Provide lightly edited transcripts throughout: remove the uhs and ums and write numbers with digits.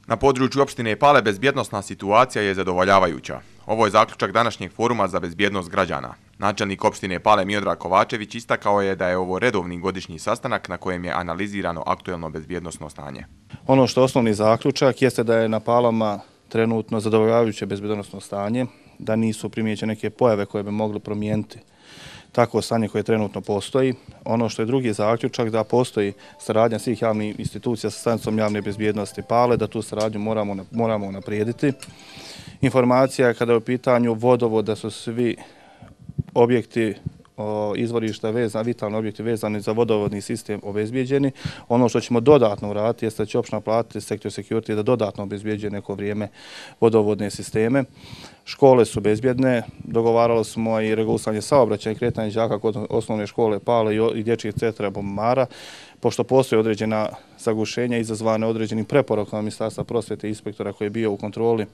Na području opštine Pale bezbjednosna situacija je zadovoljavajuća. Ovo je zaključak današnjeg foruma za bezbjednost građana. Načelnik opštine Pale Miodrag Kovačević istakao je da je ovo redovni godišnji sastanak na kojem je analizirano aktuelno bezbjednosno stanje. Ono što je osnovni zaključak jeste da je na Palama trenutno zadovoljavajuće bezbjednosno stanje, da nisu primijećene neke pojave koje bi mogli promijeniti takvo stanje koje trenutno postoji. Ono što je drugi zaključak, da postoji saradnja svih javnih institucija sa stanicom javne bezbjednosti Pale, da tu saradnju moramo unaprijediti. Informacija kada je u pitanju vodovod, da su svi objekti izvorišta vitalni objekti vezani za vodovodni sistem obezbijeđeni. Ono što ćemo dodatno uraditi jeste da će opština platiti sektor security da dodatno obezbijeđuje neko vrijeme vodovodne sisteme. Škole su bezbjedne, dogovarali smo i regulisanje saobraćaja i kretanje đaka kod osnovne škole Pale i dječjih centra Bubamara, pošto postoje određena zagušenja izazvane određenim preporukama Ministarstva prosvjete i inspektora koji je bio u kontroli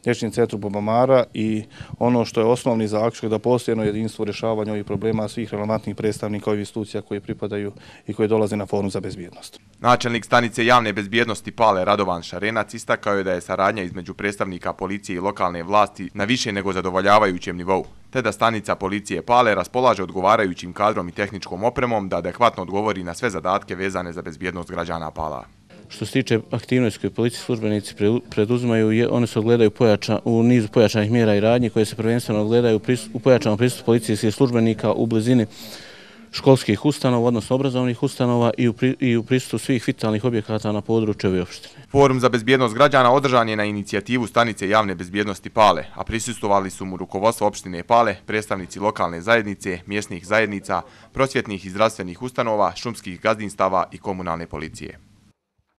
dječjem centru Bubamara, i ono što je osnovni zaključak da postoji jedno jedinstvo u rješavanju ovih problema svih relevantnih predstavnika ovih institucija koji pripadaju i koji dolaze na forum za bezbjednost. Načelnik stanice javne bezbjednosti Pale Radovan Šarenac istakao je da je saradnja između predstavnika policije i lokalne vlasti na više nego zadovoljavajućem nivou, te da stanica policije Pale raspolaže odgovarajućim kadrom i tehničkom opremom da adekvatno odgovori na sve zadatke vezane za bezbjednost građana Pala. Što se tiče aktivnosti koje policijski službenici preduzimaju, one se ogledaju u nizu pojačanih mjera i radnji koje se prvenstveno ogledaju u pojačanom pristupu policijskih službenika u blizini školskih ustanova, odnosno obrazovnih ustanova, i u pristupu svih vitalnih objekata na području ove opštine. Forum za bezbjednost građana održan je na inicijativu stanice javne bezbjednosti Pale, a prisustvovali su mu rukovodstvo opštine Pale, predstavnici lokalne zajednice, mjesnih zajednica, prosvjetnih i zdravstvenih ustanova, šumskih gazdinstava i komunalne policije.